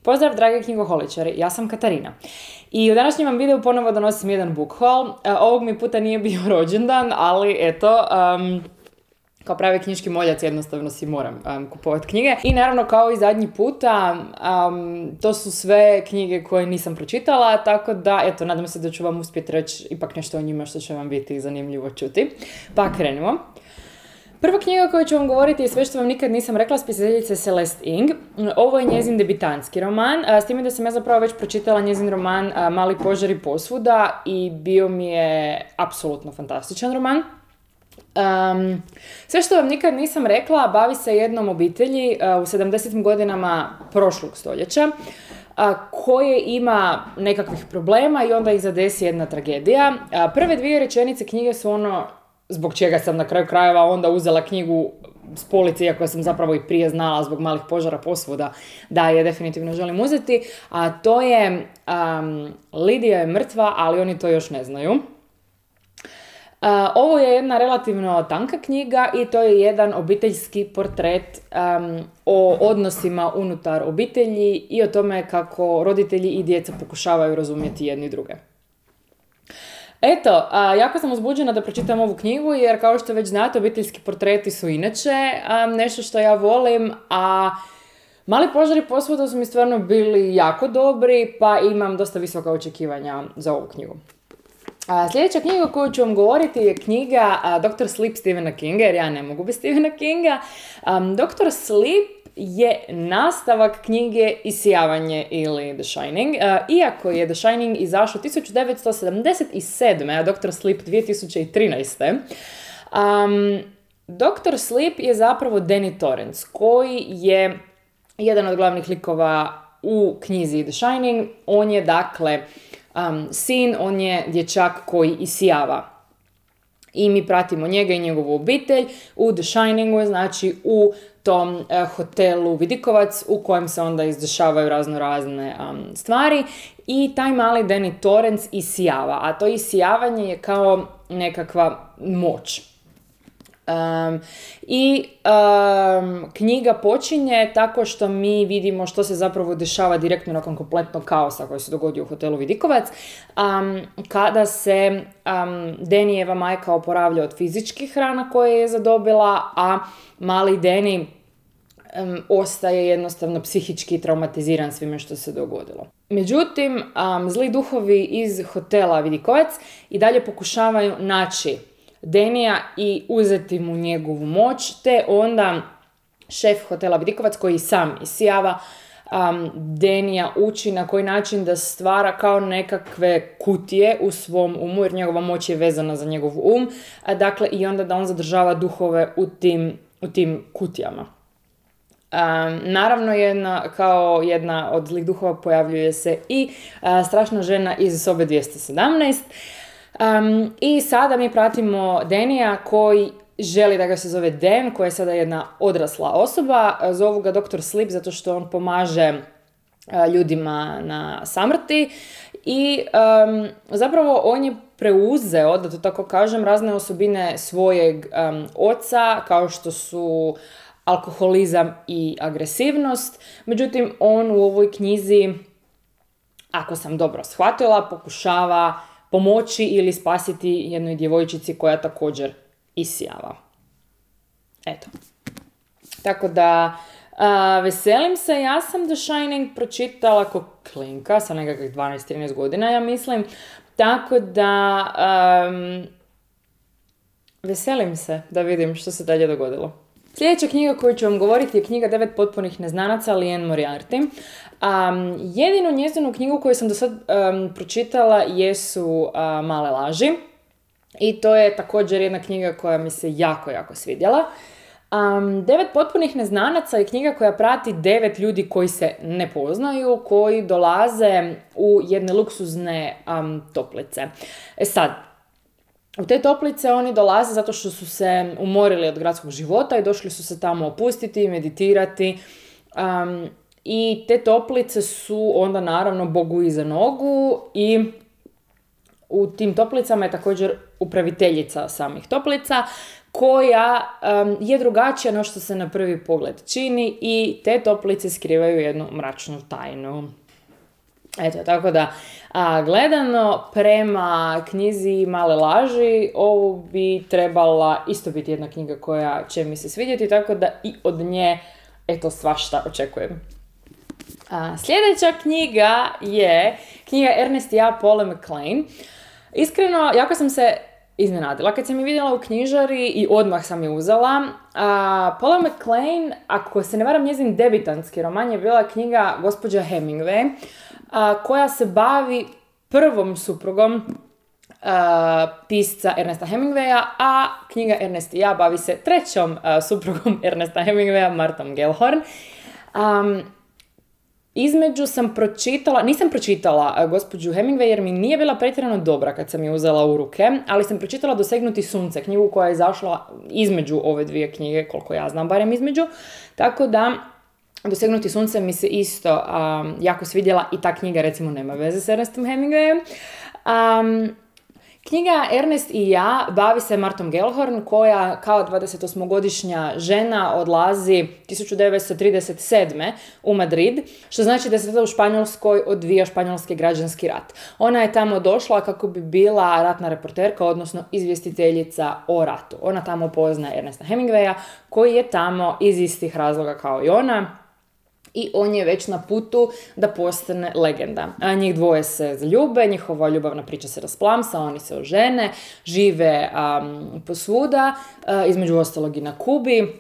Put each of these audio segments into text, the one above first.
Pozdrav dragi knjigoholičari, ja sam Katarina i u današnjem vam videu ponovo donosim jedan book haul. Ovog mi puta nije bio rođendan, ali eto, kao pravi knjiški moljac jednostavno si moram kupovati knjige. I naravno kao i zadnji puta, to su sve knjige koje nisam pročitala, tako da eto, nadam se da ću vam uspjeti reći ipak nešto o njima što će vam biti zanimljivo čuti. Pa krenimo. Prva knjiga koju ću vam govoriti je Sve što vam nikad nisam rekla, spisateljice Celeste Ng. Ovo je njezin debitanski roman, s time da sam ja zapravo već pročitala njezin roman Mali požari posvuda i bio mi je apsolutno fantastičan roman. Sve što vam nikad nisam rekla bavi se jednom obitelji u 70. godinama prošlog stoljeća koje ima nekakvih problema i onda ih zadesi jedna tragedija. Prve dvije rečenice knjige su ono zbog čega sam na kraju krajeva onda uzela knjigu s police, iako sam zapravo i prije znala zbog Malih požara posvuda da je definitivno želim uzeti, a to je Lidija je mrtva, ali oni to još ne znaju. Ovo je jedna relativno tanka knjiga i to je jedan obiteljski portret o odnosima unutar obitelji i o tome kako roditelji i djeca pokušavaju razumjeti jedni druge. Eto, jako sam uzbuđena da pročitam ovu knjigu jer kao što već znate, obiteljski portreti su inače nešto što ja volim, a Mali požari posvuda su mi stvarno bili jako dobri, pa imam dosta visoka očekivanja za ovu knjigu. Sljedeća knjiga koju ću vam govoriti je knjiga Dr. Sleep Stephena Kinga, jer ja ne mogu bez Stephena Kinga. Dr. Sleep je nastavak knjige Isijavanje ili The Shining. Iako je The Shining izašao 1977. a Dr. Sleep 2013. Dr. Sleep je zapravo Danny Torrance, koji je jedan od glavnih likova u knjizi The Shining. On je dakle sin, on je dječak koji isijava. I mi pratimo njega i njegovu obitelj u The Shiningu, znači u tom hotelu Vidikovac u kojem se onda izdešavaju razne stvari. I taj mali Danny Torrance isijava, a to isijavanje je kao nekakva moć. Knjiga počinje tako što mi vidimo što se zapravo dešava direktno nakon kompletnog kaosa koji se dogodio u hotelu Vidikovac, kada se Dannyjeva majka oporavlja od fizičkih rana koje je zadobila, a mali Danny ostaje jednostavno psihički traumatiziran svime što se dogodilo. Međutim, zli duhovi iz hotela Vidikovac i dalje pokušavaju naći Dannyja i uzeti mu njegovu moć, te onda šef hotela Vidikovac koji sam isijava Dannyja uči na koji način da stvara kao nekakve kutije u svom umu, jer njegova moć je vezana za njegov um, dakle i onda da on zadržava duhove u tim kutijama. Naravno, kao jedna od zlih duhova pojavljuje se i strašna žena iz sobe 217. I sada mi pratimo Dannyja koji želi da ga se zove Dan, koja je sada jedna odrasla osoba. Zovu ga Dr. Sleep zato što on pomaže ljudima na samrti i zapravo on je preuzeo, da to tako kažem, razne osobine svojeg oca, kao što su alkoholizam i agresivnost. Međutim, on u ovoj knjizi, ako sam dobro shvatila, pokušava pomoći ili spasiti jednoj djevojčici koja također isijava. Eto. Tako da, veselim se. Ja sam The Shining pročitala ko klinka sa nekakvih 12-13 godina, ja mislim. Tako da, veselim se da vidim što se dalje dogodilo. Sljedeća knjiga koju ću vam govoriti je knjiga 9 potpunih neznanaca Liane Moriarty. Jedinu njezinu knjigu koju sam do sad pročitala jesu Male laži. I to je također jedna knjiga koja mi se jako, jako svidjela. 9 potpunih neznanaca je knjiga koja prati 9 ljudi koji se ne poznaju, koji dolaze u jedne luksuzne toplice. Sad, u te toplice oni dolaze zato što su se umorili od gradskog života i došli su se tamo opustiti, meditirati. I te toplice su onda naravno Bogu iza nogu i u tim toplicama je također upraviteljica samih toplica koja je drugačija no što se na prvi pogled čini i te toplice skrivaju jednu mračnu tajnu. Eto, tako da, gledano prema knjizi Male laži, ovo bi trebala isto biti jedna knjiga koja će mi se svidjeti, tako da i od nje, eto, svašta očekujem. Sljedeća knjiga je knjiga Ernest i ja Paula McLain. Iskreno, jako sam se iznenadila kad sam je vidjela u knjižari i odmah sam je uzela. Paula McLain, ako se ne varam, njezin debitanski roman je bila knjiga Gospođa Hemingway, koja se bavi prvom suprugom pisca Ernesta Hemingwaya, a knjiga Ernest i ja bavi se trećom suprugom Ernesta Hemingwaya, Martom Gellhorn. Između nisam pročitala Gospođu Hemingway jer mi nije bila pretjerano dobra kad sam je uzela u ruke, ali sam pročitala Dosegnuti sunce, knjigu koja je izašla između ove dvije knjige, koliko ja znam, barem između. Tako da, Dosegnuti sunce mi se isto jako svidjela i ta knjiga recimo nema veze s Ernestom Hemingwayem. Knjiga Ernest i ja bavi se Martom Gellhorn koja kao 28-godišnja žena odlazi 1937. u Madrid, što znači da se tada u Španjolskoj odvija španjolski građanski rat. Ona je tamo došla kako bi bila ratna reporterka, odnosno izvjestiteljica o ratu. Ona tamo poznaje Ernesta Hemingwaya koji je tamo iz istih razloga kao i ona. I on je već na putu da postane legenda. Njih dvoje se zaljube, njihova ljubavna priča se rasplamsa, oni se ožene, žive posvuda, između ostalog i na Kubi.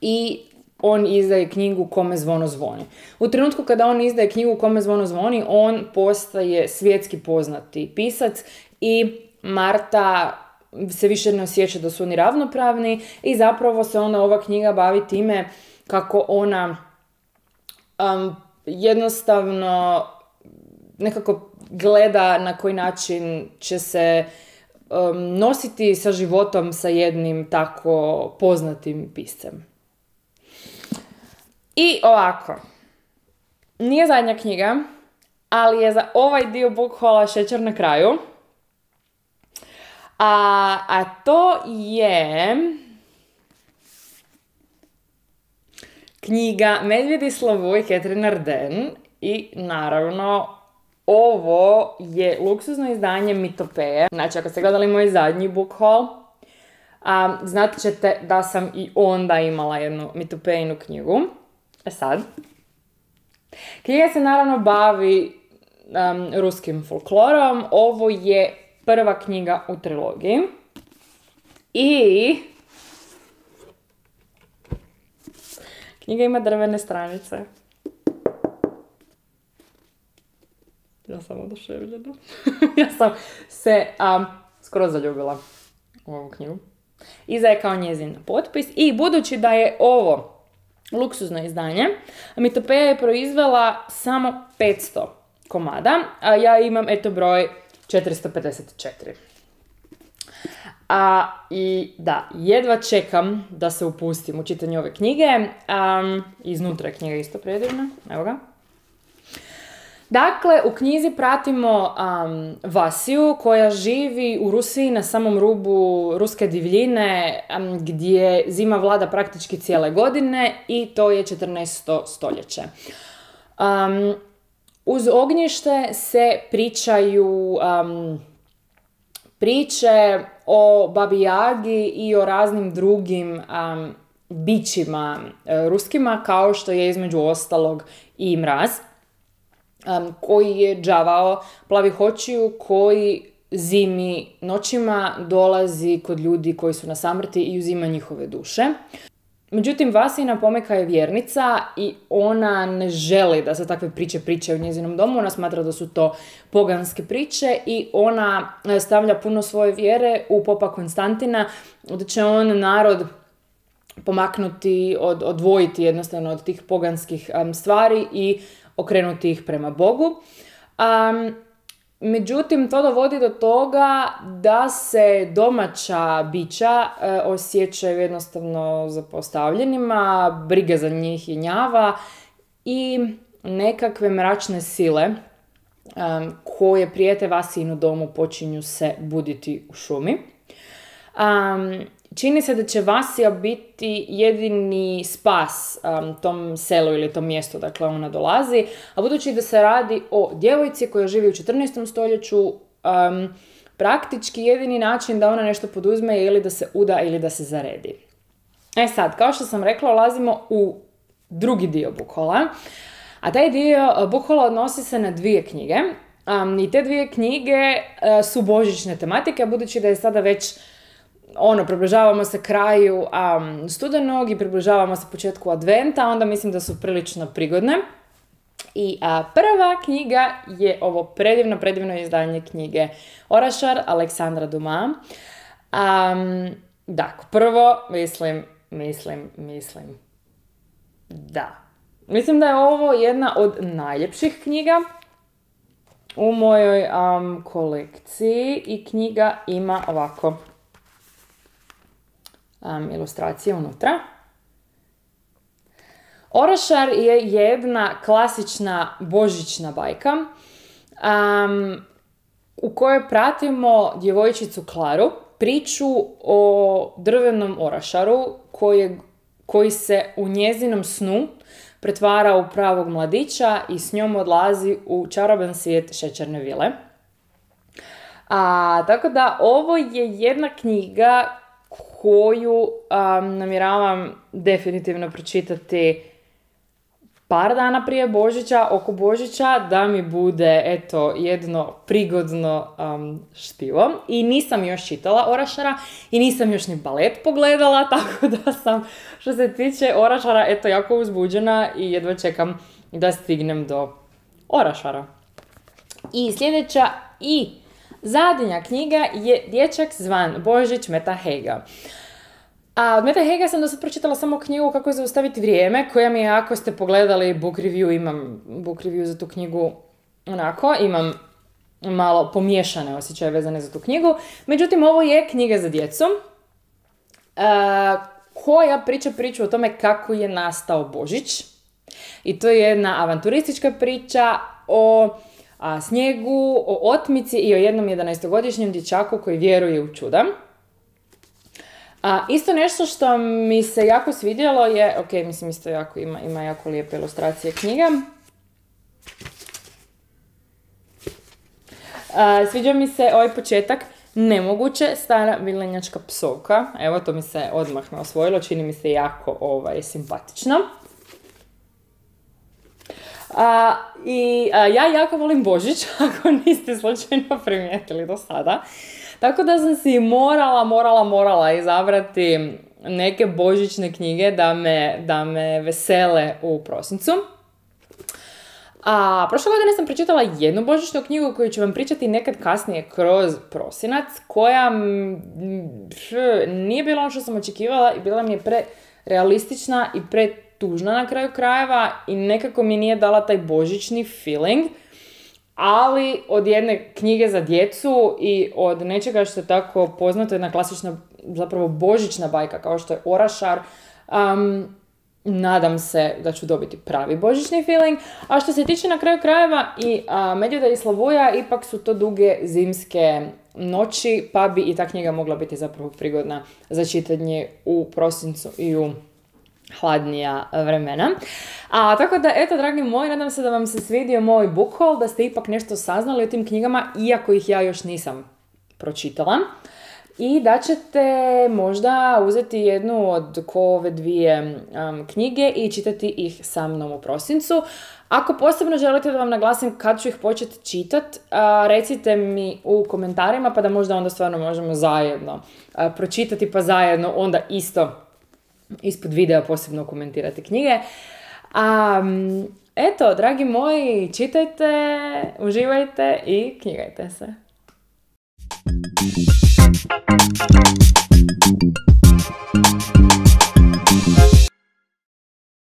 I on izdaje knjigu Kome zvono zvoni. U trenutku kada on izdaje knjigu Kome zvono zvoni, on postaje svjetski poznati pisac i Marta se više ne osjeća da su oni ravnopravni i zapravo se onda ova knjiga bavi time kako ona jednostavno nekako gleda na koji način će se nositi sa životom sa jednim tako poznatim piscem. I ovako, nije zadnja knjiga, ali je za ovaj dio book hauла šećer na kraju. A to je knjiga Medvjedi Slavu i Catherine Arden i naravno ovo je luksuzno izdanje Mitopeje. Znači ako ste gledali moj zadnji book haul, znat ćete da sam i onda imala jednu Mitopejinu knjigu. Sad. Knjiga se naravno bavi ruskim folklorom. Ovo je prva knjiga u trilogiji. I knjiga ima drvene stranice. Ja sam oduševljena. Ja sam se skoro zaljubila u ovu knjigu. Iza je kao njezin potpis. I budući da je ovo luksuzno izdanje, Mitopeja je proizvela samo 500 komada, a ja imam broj 454. I da, jedva čekam da se upustim u čitanje ove knjige. Iznutra je knjiga isto predivna, evo ga. Dakle, u knjizi pratimo Vasiju koja živi u Rusiji na samom rubu ruske divljine gdje zima vlada praktički cijele godine i to je 14. stoljeće. Uz ognjište se pričaju priče o Babi Jagi i o raznim drugim bićima ruskima, kao što je između ostalog i Mraz, koji je đavao plavih očiju koji zimi noćima dolazi kod ljudi koji su na samrti i uzima njihove duše. Međutim, Vasina pomeka je vjernica i ona ne želi da se takve priče pričaju u njezinom domu. Ona smatra da su to poganske priče i ona stavlja puno svoje vjere u popa Konstantina, da će on narod pomaknuti, odvojiti jednostavno od tih poganskih stvari i okrenuti ih prema Bogu. Međutim, to dovodi do toga da se domaća bića osjećaju jednostavno zapostavljenima, briga za njih jenjava i nekakve mračne sile koje prijete Vasinu domu počinju se buditi u šumi. čini se da će Vasija biti jedini spas tom selu ili tom mjestu, dakle ona dolazi, a budući da se radi o djevojci koja živi u 14. stoljeću, praktički jedini način da ona nešto poduzme je ili da se uda ili da se zaredi. E sad, kao što sam rekla, ulazimo u drugi dio Bukhola, a taj dio Bukhola odnosi se na 2 knjige. I te 2 knjige su božićne tematike, budući da je sada već približavamo se kraju studenog i približavamo se početku adventa, onda mislim da su prilično prigodne. I prva knjiga je ovo predivno izdanje knjige Orašar Aleksandra Dumas. Dakle, prvo mislim da je ovo jedna od najljepših knjiga u mojoj kolekciji i knjiga ima ovako ilustracije unutra. Orašar je jedna klasična božićna bajka u kojoj pratimo djevojčicu Klaru, priču o drvenom orašaru koji se u njezinom snu pretvara u pravog mladića i s njom odlazi u čaroban svijet šećerne vile. Tako da ovo je jedna knjiga koju namjeravam definitivno pročitati par dana prije Božića, oko Božića, da mi bude, jedno prigodno štivo. I nisam još čitala Orašara i nisam još ni balet pogledala, tako da sam, što se tiče Orašara, jako uzbuđena i jedva čekam da stignem do Orašara. I sljedeća i zadnja knjiga je Dječak zvan Božić Meta Heiga. Od Meta Heiga sam do sad pročitala samo knjigu Kako zaustaviti vrijeme, koja mi je, ako ste pogledali book review, imam book review za tu knjigu, imam malo pomiješane osjećaje vezane za tu knjigu. Međutim, ovo je knjiga za djecu, koja priča priču o tome kako je nastao Božić. I to je jedna avanturistička priča o snijegu, o otmici i o jednom 11-godišnjem dječaku koji vjeruje u čuda. Isto nešto što mi se jako svidjelo je, isto ima jako lijepe ilustracije knjiga. Sviđa mi se ovaj početak, nemoguće, stara vilenjačka psovka. Evo, to mi se odmah osvojilo, čini mi se jako simpatično. Ja jako volim Božić, ako niste slučajno primijetili do sada. Tako da sam si morala izabrati neke božićne knjige da me vesele u prosincu. Prošle godine sam pročitala jednu božićnu knjigu koju ću vam pričati nekad kasnije kroz prosinac, koja nije bila ono što sam očekivala i bila mi je prerealistična i pretužna na kraju krajeva i nekako mi nije dala taj božićni feeling. Ali od jedne knjige za djecu i od nečega što je tako poznato, jedna klasična, zapravo božićna bajka kao što je Orašar, nadam se da ću dobiti pravi božićni feeling. A što se tiče na kraju krajeva i Medvjeda i Slavuja, ipak su to duge zimske noći, pa bi i ta knjiga mogla biti zapravo prigodna za čitanje u prosincu i u hladnija vremena. Tako da, dragi moji, nadam se da vam se svidio moj book haul, da ste ipak nešto saznali o tim knjigama, iako ih ja još nisam pročitala. I da ćete možda uzeti jednu od ove 2 knjige i čitati ih sa mnom u prosincu. Ako posebno želite da vam naglasim kad ću ih početi čitati, recite mi u komentarima, pa da možda onda stvarno možemo zajedno pročitati, pa zajedno onda isto ispod videa posebno komentirati knjige. Dragi moji, čitajte, uživajte i knjigajte se.